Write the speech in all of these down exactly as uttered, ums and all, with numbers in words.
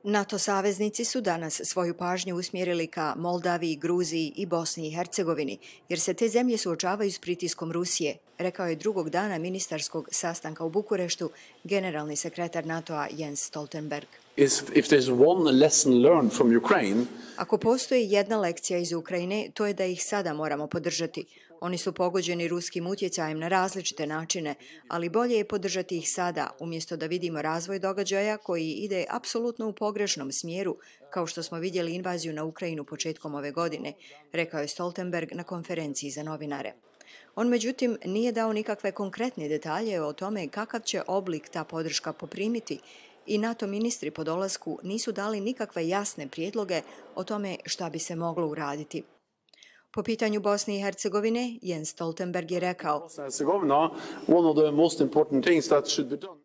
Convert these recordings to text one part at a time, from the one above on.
NATO saveznici su danas svoju pažnju usmjerili ka Moldaviji, Gruziji i Bosni i Hercegovini, jer se te zemlje suočavaju s pritiskom Rusije, rekao je drugog dana ministarskog sastanka u Bukureštu generalni sekretar NATO-a Jens Stoltenberg. Ako postoji jedna lekcija iz Ukrajine, to je da ih sada moramo podržati. Oni su pogođeni ruskim utjecajem na različite načine, ali bolje je podržati ih sada, umjesto da vidimo razvoj događaja koji ide apsolutno u pogrešnom smjeru, kao što smo vidjeli invaziju na Ukrajinu početkom ove godine, rekao je Stoltenberg na konferenciji za novinare. On, međutim, nije dao nikakve konkretne detalje o tome kakav će oblik ta podrška poprimiti i NATO ministri po dolasku nisu dali nikakve jasne prijedloge o tome šta bi se moglo uraditi. Po pitanju Bosne i Hercegovine, Jens Stoltenberg je rekao: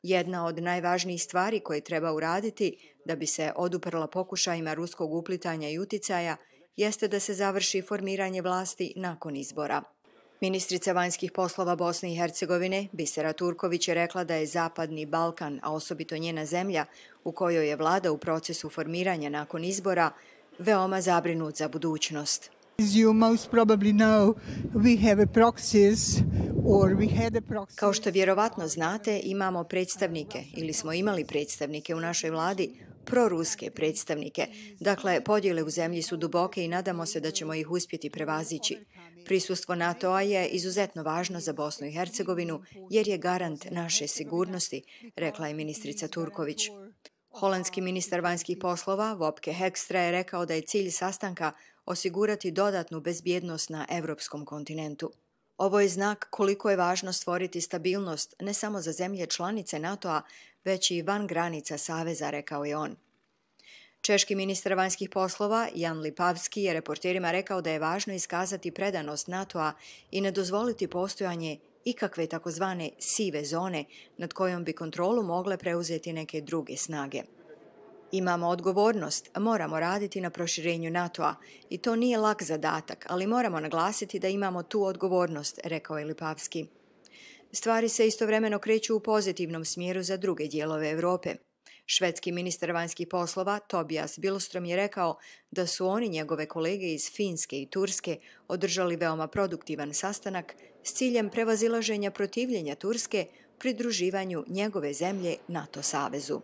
jedna od najvažnijih stvari koje treba uraditi da bi se oduprla pokušajima ruskog uplitanja i uticaja jeste da se završi formiranje vlasti nakon izbora. Ministrica vanjskih poslova Bosne i Hercegovine, Bisera Turković, je rekla da je Zapadni Balkan, a osobito njena zemlja, u kojoj je vlada u procesu formiranja nakon izbora, veoma zabrinut za budućnost. Kao što vjerovatno znate, imamo predstavnike ili smo imali predstavnike u našoj vladi, proruske predstavnike. Dakle, podjele u zemlji su duboke i nadamo se da ćemo ih uspjeti prevazići. Prisustvo NATO-a je izuzetno važno za Bosnu i Hercegovinu jer je garant naše sigurnosti, rekla je ministrica Turković. Holandski ministar vanjskih poslova Wopke Hoekstra je rekao da je cilj sastanka osigurati dodatnu bezbjednost na evropskom kontinentu. Ovo je znak koliko je važno stvoriti stabilnost ne samo za zemlje članice NATO-a, već i van granica saveza, rekao je on. Češki ministar vanjskih poslova Jan Lipavski je reporterima rekao da je važno iskazati predanost NATO-a i ne dozvoliti postojanje ikakve takozvane sive zone nad kojom bi kontrolu mogle preuzeti neke druge snage. Imamo odgovornost, moramo raditi na proširenju NATO-a i to nije lak zadatak, ali moramo naglasiti da imamo tu odgovornost, rekao je Lipavski. Stvari se istovremeno kreću u pozitivnom smjeru za druge dijelove Europe. Švedski ministar vanjskih poslova Tobias Billström je rekao da su oni, njegove kolege iz Finske i Turske, održali veoma produktivan sastanak s ciljem prevazilaženja protivljenja Turske pridruživanju njegove zemlje NATO savezu.